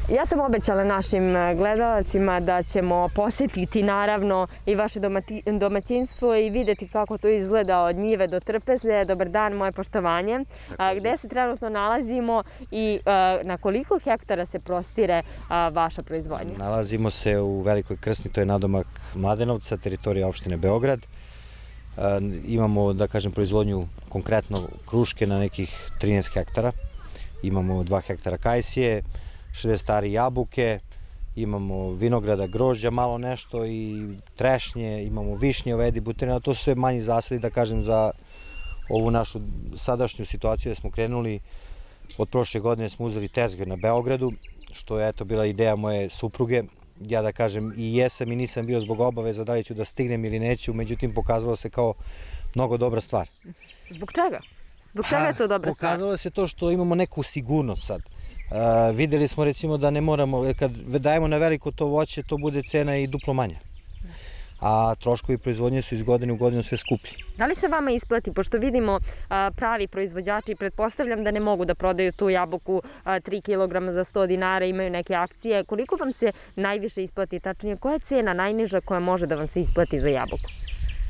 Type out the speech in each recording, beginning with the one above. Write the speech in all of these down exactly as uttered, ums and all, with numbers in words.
Ja sam obećala našim gledalacima da ćemo posjetiti naravno i vaše domaćinstvo i vidjeti kako to izgleda od njive do trpezlje. Dobar dan, moje poštovanje. Gde se trenutno nalazimo i na koliko hektara se prostire vaša proizvodnja? Nalazimo se u Velikoj Krsni, to je nadomak Mladenovca, teritorija opštine Beograd. Imamo, da kažem, proizvodnju konkretno kruške na nekih trinaest hektara. Imamo dva hektara kajsije, šezdeset stari jabuke, imamo vinograda, grožđa, malo nešto i trešnje, imamo višnje, ovedi, buterina, to su sve manji zasadi, da kažem, za ovu našu sadašnju situaciju da smo krenuli. Od prošle godine smo uzeli tezgar na Beogradu, što je eto bila ideja moje supruge. Ja da kažem i jesam i nisam bio zbog obaveza da li ću da stignem ili neću, međutim pokazalo se kao mnogo dobra stvar. Zbog čega? Zbog čega je to dobra stvar? Pokazalo se to što imamo neku sigurnost sad. Videli smo recimo da ne moramo, kad dajemo na veliko to voće, to bude cena i duplo manja. A troškovi proizvodnje su iz godine u godinu sve skuplji. Da li se vama isplati, pošto vidimo pravi proizvođači, pretpostavljam da ne mogu da prodaju tu jabuku tri kilograma za sto dinara, imaju neke akcije, koliko vam se najviše isplati, tačnije koja je cena najniža koja može da vam se isplati za jabuku?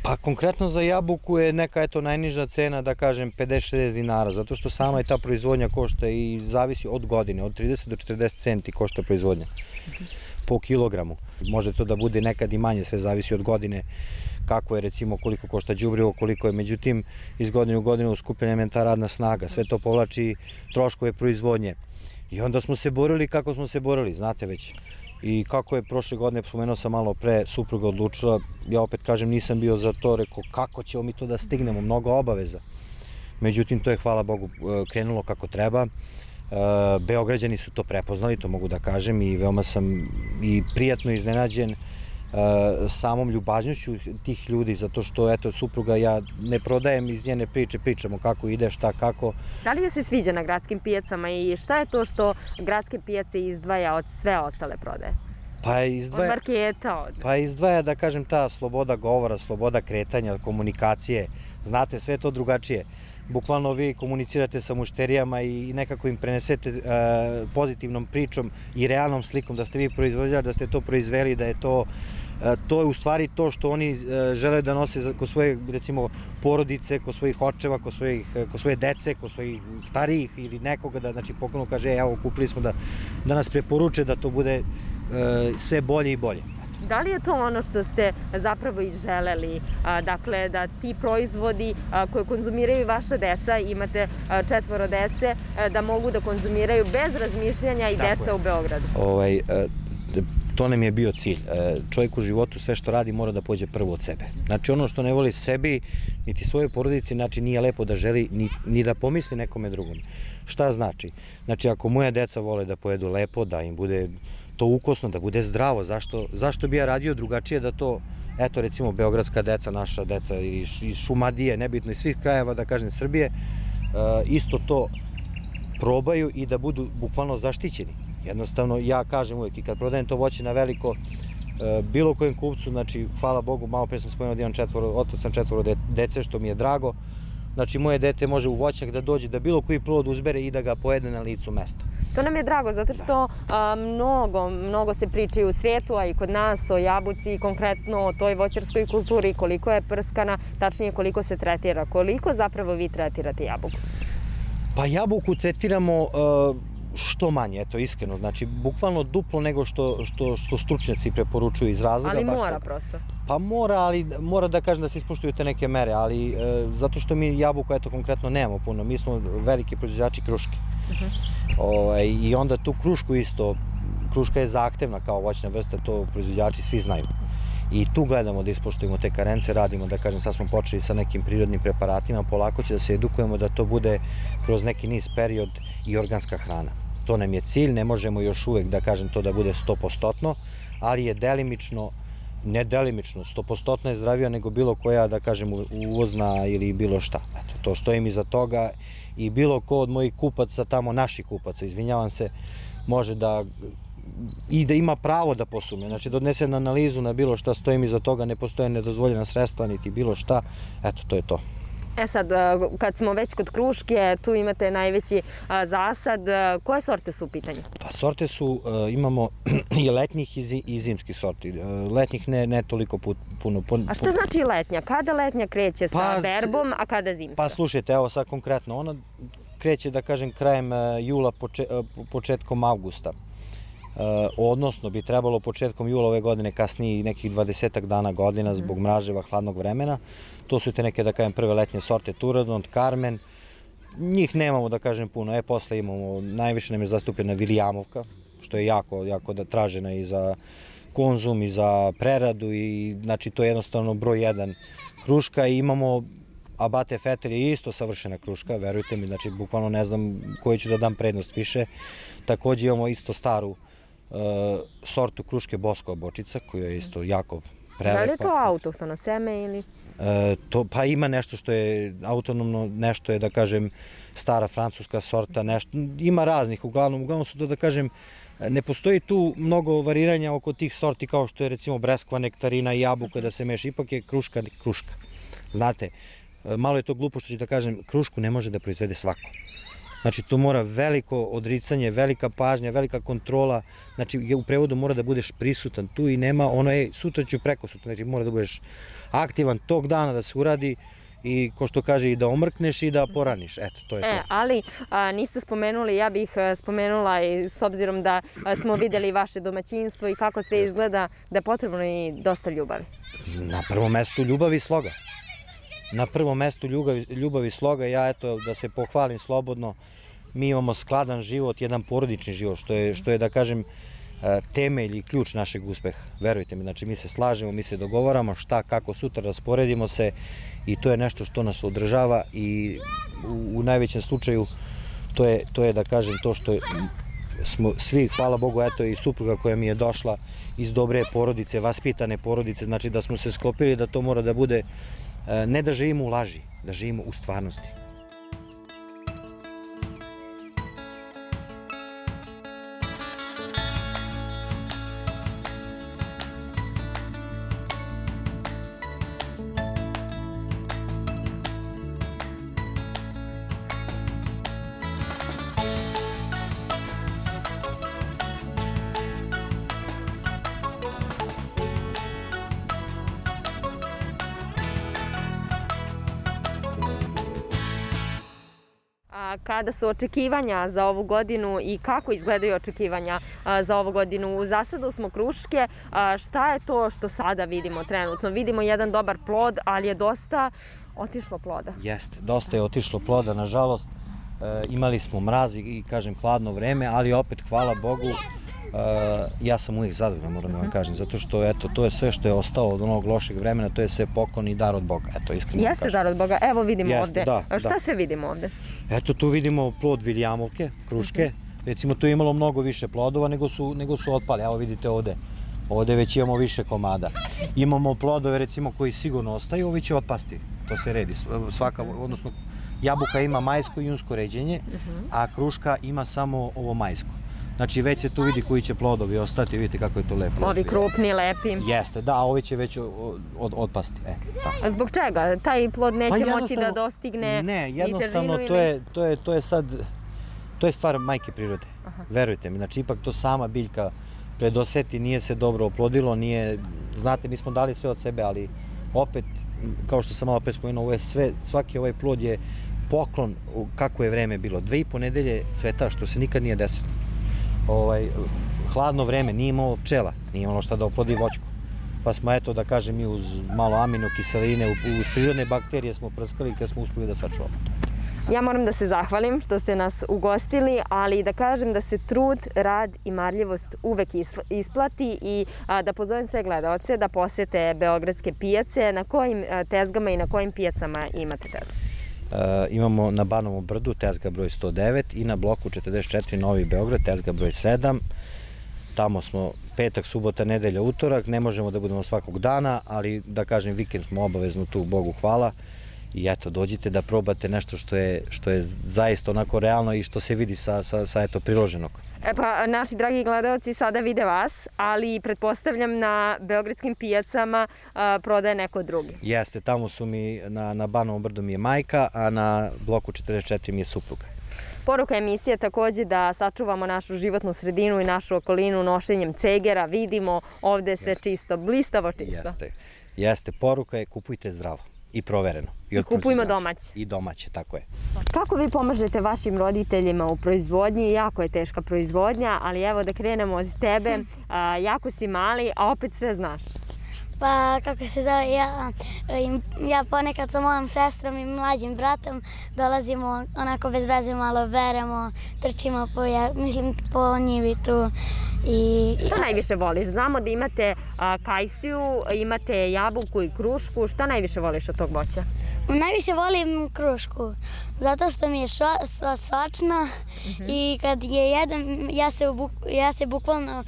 Pa konkretno za jabuku je neka eto najniža cena, da kažem, pedeset do šezdeset dinara, zato što sama je ta proizvodnja košta i zavisi od godine, od trideset do četrdeset centi košta proizvodnja po kilogramu. Može to da bude nekad i manje, sve zavisi od godine, kako je recimo, koliko košta đubrivo, koliko je, međutim, iz godine u godinu uskupljenjem je ta radna snaga, sve to povlači troškove proizvodnje. I onda smo se borili kako smo se borili, znate već. I kako je prošle godine, spomenuo sam malo pre, supruga odlučila, ja opet kažem nisam bio za to, rekao kako ćemo mi to da stignemo, mnogo obaveza. Međutim, to je, hvala Bogu, krenulo kako treba. Beograđani su to prepoznali, to mogu da kažem, i veoma sam i prijatno iznenađen samom ljubažnošću tih ljudi, zato što, eto, supruga, ja ne prodajem iz njene priče, pričamo kako ide, šta, kako. Da li joj se sviđa na gradskim pijacama i šta je to što gradske pijace izdvaja od sve ostale prodaje? Pa izdvaja, od marketa? Od... Pa izdvaja, da kažem, ta sloboda govora, sloboda kretanja, komunikacije, znate, sve to drugačije. Bukvalno vi komunicirate sa mušterijama i nekako im prenesete pozitivnom pričom i realnom slikom da ste vi proizvođač, da ste to proizveli, da je to to je u stvari to što oni žele da nose kod svoje, recimo, porodice, kod svojih očeva, kod svoje dece, kod svojih starijih ili nekoga, da znači poklonu kaže, evo, kupili smo da nas preporuče da to bude sve bolje i bolje. Da li je to ono što ste zapravo i želeli, dakle da ti proizvodi koje konzumiraju vaša deca, imate četvoro dece, da mogu da konzumiraju bez razmišljanja i deca u Beogradu? To nam je bio cilj. Čovjek u životu sve što radi mora da pođe prvo od sebe. Znači ono što ne voli sebi, niti svoje porodici, znači nije lepo da želi ni da pomisli nekome drugom. Šta znači? Znači ako moja deca vole da pojedu lepo, da im bude to ukosno, da bude zdravo, zašto bi ja radio drugačije da to, eto recimo beogradska deca, naša deca iz Šumadije, nebitno iz svih krajeva, da kažem Srbije, isto to probaju i da budu bukvalno zaštićeni. Jednostavno, ja kažem uvijek i kad prodajem to voće na veliko, bilo kojem kupcu, znači, hvala Bogu, malo pre sam spomenuo da imam četvoro, otac sam četvoro dece, što mi je drago. Znači, moje dete može u voćnjak da dođe, da bilo koji plod uzbere i da ga pojede na licu mesta. To nam je drago, zato što mnogo, mnogo se pričaju u svijetu, a i kod nas o jabuci, konkretno o toj voćarskoj kulturi, koliko je prskana, tačnije koliko se tretira. Koliko zapravo vi tretirate jabuku? Pa jabuku tretiramo što manje, eto, iskreno. Znači, bukvalno duplo nego što stručnjaci preporučuju iz razloga. Ali mora prosto? Pa mora, ali mora da kažem da se ispoštuju te neke mere, ali zato što mi jabuku, eto, konkretno nemamo puno. Mi smo veliki proizvođači kruške. I onda tu krušku isto, kruška je zahtevna kao voćna vrsta, to proizvođači svi znaju. I tu gledamo da ispoštujemo te karence, radimo, da kažem, sad smo počeli sa nekim prirodnim preparatima, polako će da se edukujemo da to bude kroz neki niz period i organska hrana. To nam je cilj, ne možemo još uvek, da kažem, to da bude sto posto, ali je delimično, ne delimično, sto posto je zdravija nego bilo koja, da kažem, uvozna ili bilo šta. Eto, to stojim iza toga i bilo ko od mojih kupaca, tamo naših kupaca, izvinjavam se, može da i da ima pravo da posumnja, znači da odnese na analizu na bilo šta, stojim iza toga, ne postoje nedozvoljena sredstva niti bilo šta, eto, to je to. E sad, kad smo već kod kruške, tu imate najveći zasad. Koje sorte su u pitanju? Pa sorte su, imamo i letnjih i zimskih sorti. Letnjih ne toliko puno. A šta znači letnja? Kada letnja kreće sa berbom, a kada zimska? Pa slušajte, evo sad konkretno, ona kreće, da kažem, krajem jula, početkom avgusta. Odnosno bi trebalo početkom jula ove godine, kasnije nekih dvadesetak dana godina zbog mraževa, hladnog vremena. To su te neke, da kažem, prve letnje sorte Turadont, Carmen. Njih nemamo, da kažem, puno. E, posle imamo, najviše nam je zastupljena Viljamovka, što je jako, jako tražena i za konzum i za preradu i, znači, to je jednostavno broj jedan kruška i imamo Abate Fetel je isto savršena kruška, verujte mi, znači, bukvalno ne znam koju ću da dam prednost više. Takođe imamo isto staru sortu kruške Boskova bočica, koja je isto jako prelepa. Da li je to autohtono seme ili? Pa ima nešto što je autonomno, nešto je, da kažem, stara francuska sorta, ima raznih, uglavnom, uglavnom su to, da kažem, ne postoji tu mnogo variranja oko tih sorti kao što je, recimo, breskva, nektarina i jabuka da se meša, ipak je kruška kruška. Znate, malo je to glupo što ću da kažem, krušku ne može da proizvede svako. Znači, tu mora veliko odricanje, velika pažnja, velika kontrola, znači, u prevodu mora da budeš prisutan tu i nema ono, ej, sutra ću preko sutra, znači, mora da budeš aktivan tog dana da se uradi i, ko što kaže, i da omrkneš i da poraniš, eto, to je to. E, ali niste spomenuli, ja bih spomenula i s obzirom da smo videli vaše domaćinstvo i kako sve izgleda, da je potrebno i dosta ljubavi. Na prvom mestu ljubavi i sloga. Na prvom mestu ljubav i sloga, ja eto da se pohvalim slobodno, mi imamo skladan život, jedan porodični život, što je da kažem temelj i ključ našeg uspeha, verujte mi, znači mi se slažemo, mi se dogovaramo šta, kako, sutra rasporedimo se i to je nešto što nas održava i u najvećem slučaju to je da kažem to što smo svi, hvala Bogu, eto i supruga koja mi je došla iz dobre porodice, vaspitane porodice, znači da smo se sklopili da to mora da bude ne da živimo u laži, da živimo u stvarnosti. Kada su očekivanja za ovu godinu i kako izgledaju očekivanja za ovu godinu? U zasadu smo kruške, šta je to što sada vidimo trenutno? Vidimo jedan dobar plod, ali je dosta otišlo ploda. Jeste, dosta je otišlo ploda, nažalost. Imali smo mraz i, kažem, hladno vreme, ali opet, hvala Bogu, ja sam uvijek zadovoljan, moram da vam kažem, zato što, eto, to je sve što je ostalo od onog lošeg vremena, to je sve poklon i dar od Boga, eto, iskreno vam kažem. Jeste dar od Boga, evo vidimo ovde. Šta sve vidimo ovde? Eto, tu vidimo plod Viljamovke, kruške, recimo tu je imalo mnogo više plodova nego su otpali, evo vidite ovde, ovde već imamo više komada. Imamo plodove, recimo, koji sigurno ostaju, ovi će otpasti, to se redi, svaka, odnosno, jabuka ima majsko i junsko ređenje, a kruška ima samo ovo majsko. Znači, već se tu vidi koji će plodovi ostati, vidite kako je to lepo. Ovi krupni, lepi. Jeste, da, a ovi će već otpasti. A zbog čega? Taj plod neće moći da dostigne i težinu ili? Ne, jednostavno, to je sad, to je stvar majke prirode. Verujte mi, znači, ipak to sama biljka predoseti, nije se dobro oplodilo, nije, znate, mi smo dali sve od sebe, ali opet, kao što sam malo pre spomenuo, svaki ovaj plod je poklon kako je vreme bilo. Dve i po nedelje cveta, što se nikad nije desilo. Hladno vreme, nije imalo pčela, nije imalo šta da oplodi voćku. Pa smo, eto, da kažem, mi uz malo aminokiseline, uz prirodne bakterije smo prskali gde smo uspeli da sačuvamo. Ja moram da se zahvalim što ste nas ugostili, ali da kažem da se trud, rad i marljivost uvek isplati i da pozovem sve gledalce da posete beogradske pijace. Na kojim tezgama i na kojim pijacama imate tezgu? Imamo na Banovom brdu tezga broj sto devet i na bloku četrdeset četiri Novi Beograd tezga broj sedam. Tamo smo petak, subota, nedelja, utorak. Ne možemo da budemo svakog dana, ali da kažem vikend smo obavezno tu, Bogu hvala. I eto, dođite da probate nešto što je, što je zaista onako realno i što se vidi sa, sa, sa eto, priloženog. E pa, naši dragi gledalci sada vide vas, ali pretpostavljam na beogradskim pijacama a, prodaje neko drugi. Jeste, tamo su mi, na, na Banovom brdu mi je majka, a na bloku četrdeset četiri mi je supruga. Poruka emisije takođe da sačuvamo našu životnu sredinu i našu okolinu nošenjem cegera. Vidimo ovde je sve Jeste. čisto, blistavo čisto. Jeste, jeste. Poruka je kupujte zdravo i provereno. I, I kupujmo domaće. I domaće, tako je. Kako vi pomažete vašim roditeljima u proizvodnji? Jako je teška proizvodnja, ali evo da krenemo od tebe. A, jako si mali, a opet sve znaš. Pa, kako se zove, ja, ja ponekad sa mojom sestrom i mlađim bratom dolazimo onako bez veze, malo beremo, trčimo po, ja, mislim, po njivi tu. I, Šta najviše voliš? Znamo da imate a, kajsiju, imate jabuku i krušku. Šta najviše voliš od tog voća? Najviše volim krušku, zato što mi je šo, so, sočna uh-huh. i kad je jedem, ja se, buk, ja se bukvalno...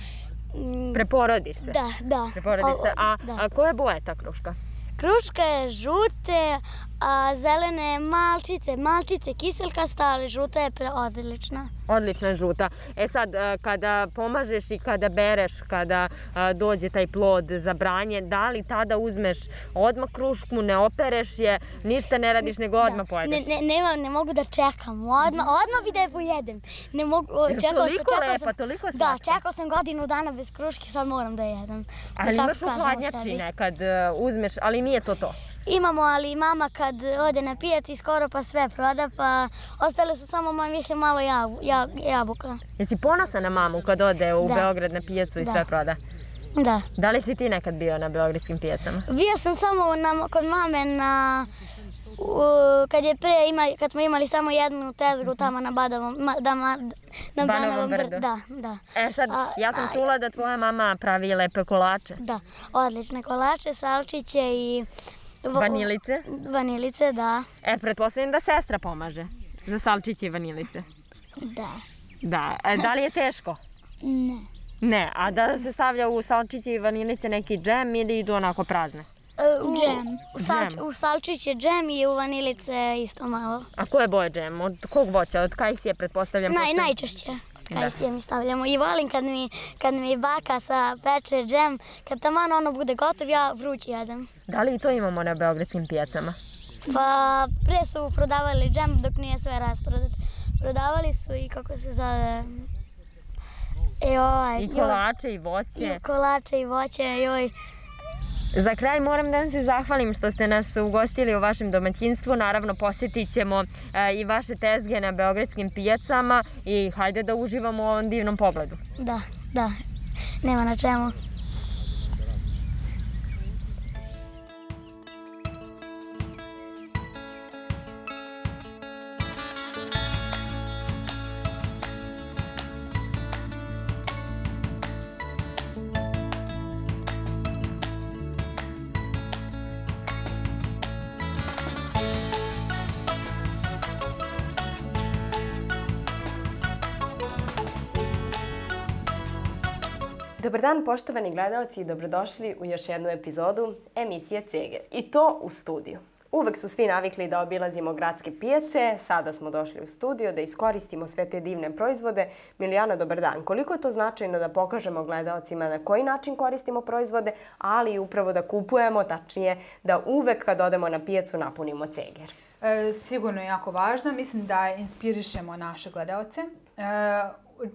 Preporodiš se? Da, da. Preporodiš se. A, da. a koja boja je ta kruška? Kruška je žute, a zelene malčice, malčice kiselkasta, ali žuta je odlična. Odlična žuta. E sad, kada pomažeš i kada bereš, kada dođe taj plod za branje, da li tada uzmeš odmah krušku, ne opereš je, ništa ne radiš, nego odmah pojedeš? Ne, ne, nema, ne mogu da čekam, odmah, odmah bi da je pojedem. Ne mogu, čekao toliko sam, lepa, sam, toliko slatka. Da, čekao sam godinu dana bez kruške, sad moram da jedem. Ali imaš u hladnjači nekad uzmeš, ali nije to to. Imamo, ali mama kad ode na pijaci skoro pa sve proda, pa ostale su samo, mislim, malo jabu, ja, jabuka. Jesi ponosan na mamu kad ode u da. Beograd na pijacu i da. sve proda? Da. Da li si ti nekad bio na beogradskim pijacama? Bio sam samo na, kod mame na... U, kad je pre ima, kad smo imali samo jednu tezgu tamo na Banovom ma, da, ma, na Banovom brdu. Da, da. E sad, a, ja sam a, čula da tvoja mama pravi lepe kolače. Da, odlične kolače, salčiće i... Vanilice? Vanilice, da. E, pretpostavljam da sestra pomaže za salčiće i vanilice. Da. Da. E, da li je teško? Ne. Ne, a da se stavlja u salčiće i vanilice neki džem ili idu onako prazne? U, džem. U, salč, u salčiće džem i u vanilice isto malo. A koje boje džem? Od kog voća? Od kajsije, pretpostavljam? Naj, postoji... Najčešće. Kajsije mi stavljamo. I volim kad mi, kad mi baka sa peče džem, kad taman ono bude gotov, ja vruć jedem. Da li i to imamo na beogradskim pijacama? Pa pre su prodavali džem dok nije sve rasprodat. Prodavali su i kako se zove... E, ovaj, I kolače i voće. I kolače i voće, joj. Za kraj moram da vam se zahvalim što ste nas ugostili u vašem domaćinstvu. Naravno, posjetit ćemo i vaše tezge na beogradskim pijacama i hajde da uživamo u ovom divnom pogledu. Da, da, nema na čemu. Dobar dan, poštovani gledalci, i dobrodošli u još jednu epizodu emisije Ceger. I to u studiju. Uvek su svi navikli da obilazimo gradske pijace, sada smo došli u studio da iskoristimo sve te divne proizvode. Milijana, dobar dan. Koliko je to značajno da pokažemo gledalcima na koji način koristimo proizvode, ali i upravo da kupujemo, tačnije da uvek kad odemo na pijacu napunimo Ceger? E, sigurno je jako važno. Mislim da inspirišemo naše gledalce. E,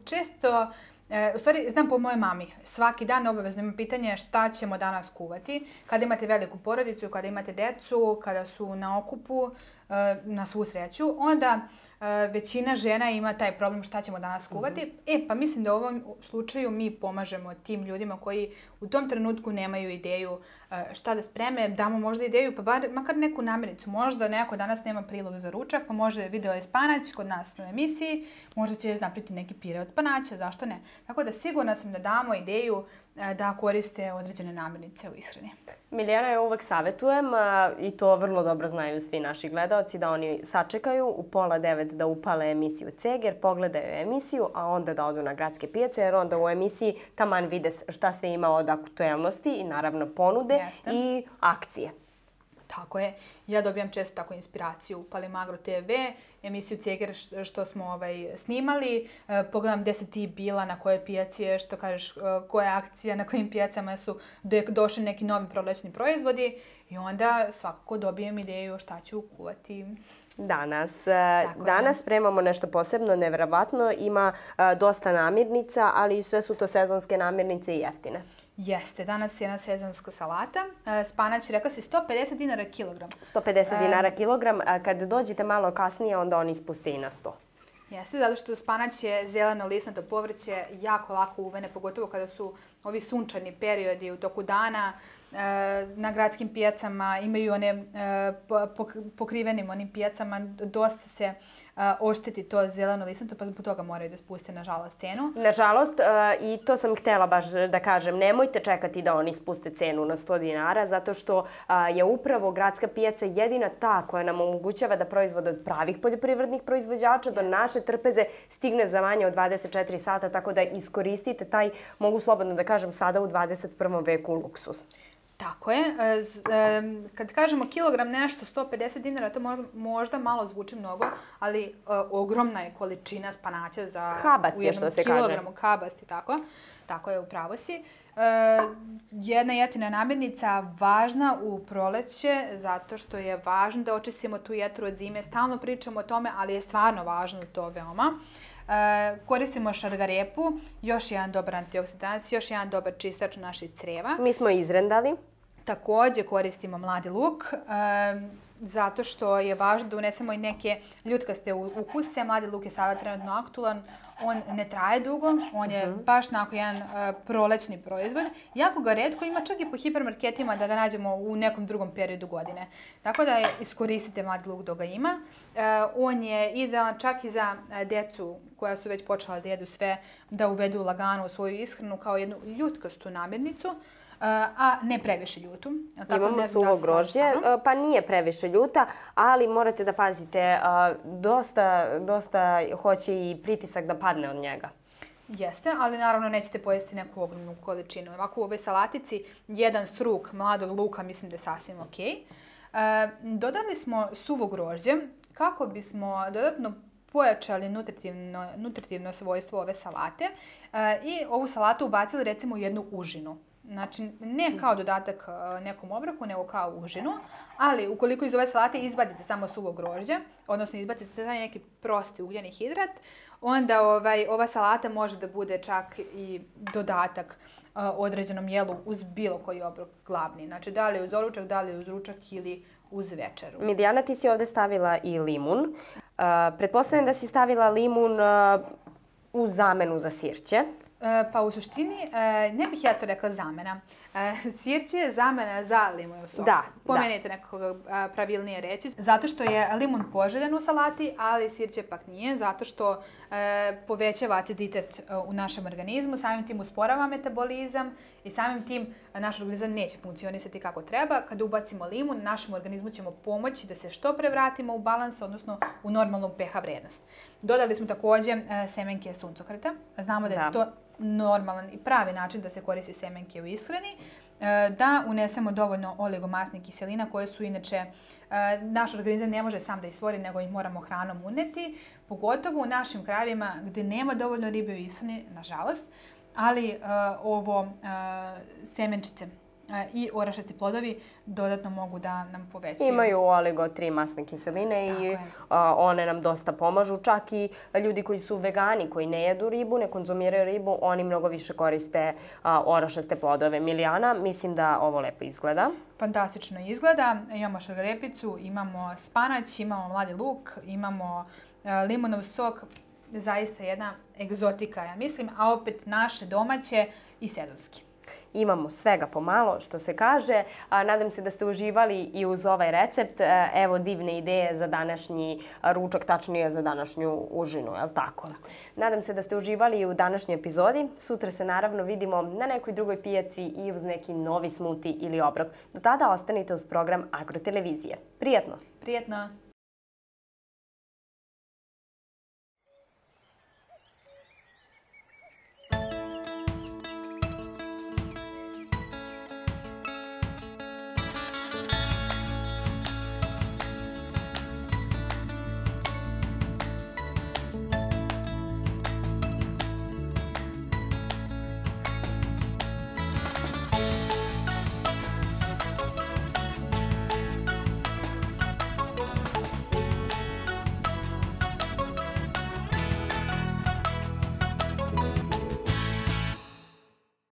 često... E, u stvari, znam po mojoj mami, svaki dan obavezno ima pitanje šta ćemo danas kuvati. Kada imate veliku porodicu, kada imate decu, kada su na okupu, e, na svu sreću, onda e, većina žena ima taj problem šta ćemo danas kuvati. Mm-hmm. E, pa mislim da u ovom slučaju mi pomažemo tim ljudima koji u tom trenutku nemaju ideju e, šta da spreme, damo možda ideju, pa bar, makar neku namirnicu. Možda neko danas nema prilog za ručak, pa može video je spanać kod nas na emisiji, možda će napraviti neki pire od spanaća, zašto ne? Tako da sigurna sam da damo ideju da koriste određene namirnice u ishrani. Milijana, ja uvek savjetujem, i to vrlo dobro znaju svi naši gledalci, da oni sačekaju u pola devet da upale emisiju Ceger, pogledaju emisiju, a onda da odu na gradske pijace, jer onda u emisiji taman vide šta sve ima od aktuelnosti i naravno ponude. Jeste. I akcije. Tako je. Ja dobijam često tako inspiraciju. Upalim Agro te ve, emisiju Ceger što smo ovaj, snimali. E, pogledam gde si ti bila, na kojoj pijaci je, što kažeš, koja je akcija, na kojim pijacama su došli neki novi prolećni proizvodi. I onda svakako dobijem ideju šta ću kuvati. Danas. Tako Danas je. Spremamo nešto posebno, nevjerovatno. Ima a, dosta namirnica, ali sve su to sezonske namirnice i jeftine. Jeste, danas je jedna sezonska salata. Spanać, rekla si, sto pedeset dinara kilogram. sto pedeset dinara kilogram. Kad dođete malo kasnije, onda on ispusti i na sto. Jeste, zato što spanać je zeleno listnato povrće, jako lako uvene, pogotovo kada su ovi sunčani periodi u toku dana. Na gradskim pijacama imaju one pokrivenim onim pijacama, dosta se ošteti to zeleno listnato, pa zbog toga moraju da spuste, nažalost, cenu. Nažalost, i to sam htjela baš da kažem, nemojte čekati da oni spuste cenu na sto dinara, zato što je upravo gradska pijaca jedina ta koja nam omogućava da proizvod od pravih poljoprivrednih proizvođača do naše trpeze stigne za manje od dvadeset četiri sata, tako da iskoristite taj, mogu slobodno da kažem, sada u dvadeset prvom veku luksus. Tako je. Kad kažemo kilogram nešto, sto pedeset dinara, to možda malo zvuči mnogo, ali ogromna je količina spanaća za habast je, što se kaže. Kilogramu habasti, tako. Tako je, upravo si. Jedna jeftina namirnica važna u proleće, zato što je važno da očistimo tu jetru od zime. Stalno pričamo o tome, ali je stvarno važno to veoma. Koristimo šargarepu, još jedan dobar antioksidans, još jedan dobar čistač naših creva. Mi smo izrendali. Također koristimo mladi luk, zato što je važno da unesemo i neke ljutkaste ukuse. Mladi luk je sada trenutno aktualan, on ne traje dugo, on je baš onako jedan prolećni proizvod. Jako ga retko ima, čak i po hipermarketima da ga nađemo u nekom drugom periodu godine. Tako da iskoristite mladi luk dok ga ima. On je idealan čak i za decu koja su već počela da jedu sve, da uvedu lagano u svoju ishranu kao jednu ljutkastu namirnicu. A ne previše ljutu. Imamo suvo grožđe, pa nije previše ljuta, ali morate da pazite, dosta hoće i pritisak da padne od njega. Jeste, ali naravno nećete pojesti neku ogromnu količinu. Ovako u ovoj salatici jedan struk mladog luka mislim da je sasvim okej. Dodali smo suvo grožđe kako bismo dodatno pojačali nutritivno, nutritivno svojstvo ove salate i ovu salatu ubacili recimo u jednu užinu. Znači, ne kao dodatak nekom obroku, nego kao užinu, ali ukoliko iz ove salate izbacite samo suvo grožđe, odnosno izbacite taj neki prosti ugljeni hidrat, onda ovaj, ova salata može da bude čak i dodatak uh, određenom jelu uz bilo koji obrok glavni. Znači, da li uz doručak, da li uz ručak ili uz večeru. Midijana, ti si ovdje stavila i limun. Uh, pretpostavljam da si stavila limun uh, u zamenu za sirće. Pa u suštini, ne bih ja to rekla zamena. Sirće je zamena za limunov sok. Da, Pomenite da. nekako pravilnije reći. Zato što je limun poželjan u salati, ali sirće pak nije. Zato što e, povećava aciditet u našem organizmu, samim tim usporava metabolizam i samim tim naš organizam neće funkcionisati kako treba. Kada ubacimo limun, našem organizmu ćemo pomoći da se što pre vratimo u balans, odnosno u normalnu pH vrednost. Dodali smo također e, semenke suncokreta. Znamo da, da je to normalan i pravi način da se koristi semenke u ishrani, da unesemo dovoljno oligomasnih kiselina koje su inače naš organizam ne može sam da ih stvori, nego ih moramo hranom uneti, pogotovo u našim krajevima gdje nema dovoljno ribe u ishrani, nažalost, ali ovo semenčice i orašasti plodovi dodatno mogu da nam povećaju. Imaju oligo tri masne kiseline i one nam dosta pomažu. Čak i ljudi koji su vegani, koji ne jedu ribu, ne konzumiraju ribu, oni mnogo više koriste orašaste plodove. Milijana, mislim da ovo lepo izgleda. Fantastično izgleda. Imamo šargarepicu, imamo spanać, imamo mladi luk, imamo limunov sok. Zaista jedna egzotika, ja mislim, a opet naše domaće i sezonski. Imamo svega pomalo, što se kaže. Nadam se da ste uživali i uz ovaj recept. Evo divne ideje za današnji ručak, tačnije za današnju užinu, je li tako? Nadam se da ste uživali i u današnjoj epizodi. Sutra se naravno vidimo na nekoj drugoj pijaci i uz neki novi smuti ili obrok. Do tada ostanite uz program Agrotelevizije. Prijetno! Prijetno!